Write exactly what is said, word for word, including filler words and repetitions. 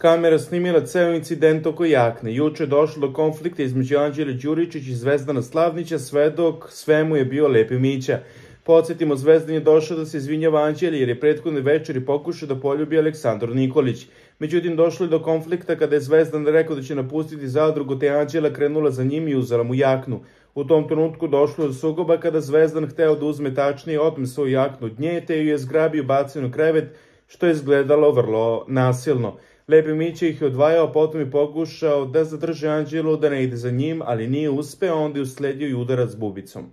Kamera snimila ceo incident oko jakne. Juče je došlo do konflikta između Anđele Đuričić i Zvezdana Slavnića, svedok svemu je bio Lepi Mića. Podsjetimo, Zvezdan je došao da se izvinjava Anđeli jer je prethodne večeri pokušao da poljubi Aleksandru Nikolić. Međutim, došlo je do konflikta kada je Zvezdan rekao da će napustiti zadrugu, te je Anđela krenula za njim i uzela mu jaknu. U tom trenutku došlo je do sukoba kada Zvezdan hteo da uzme tačnije otme svoju jaknu od nje, te ju je zgrabio i bacio na krevet, što je izgledalo vrlo nasilno. Lepi Mića ih je odvajao, potom je pokušao da zadrži Anđelu da ne ide za njim, ali nije uspeo, onda je usledio i udarac bubicom.